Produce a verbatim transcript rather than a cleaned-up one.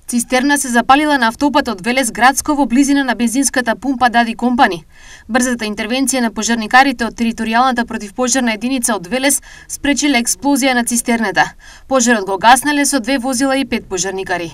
Цистерна се запалила на автопат од Велес Градско во близина на бензинската пумпа Дади Компани. Брзата интервенција на пожарникарите од територијалната противпожарна единица од Велес спречиле експлозија на цистерната. Пожарот го гаснеле со две возила и пет пожарникари.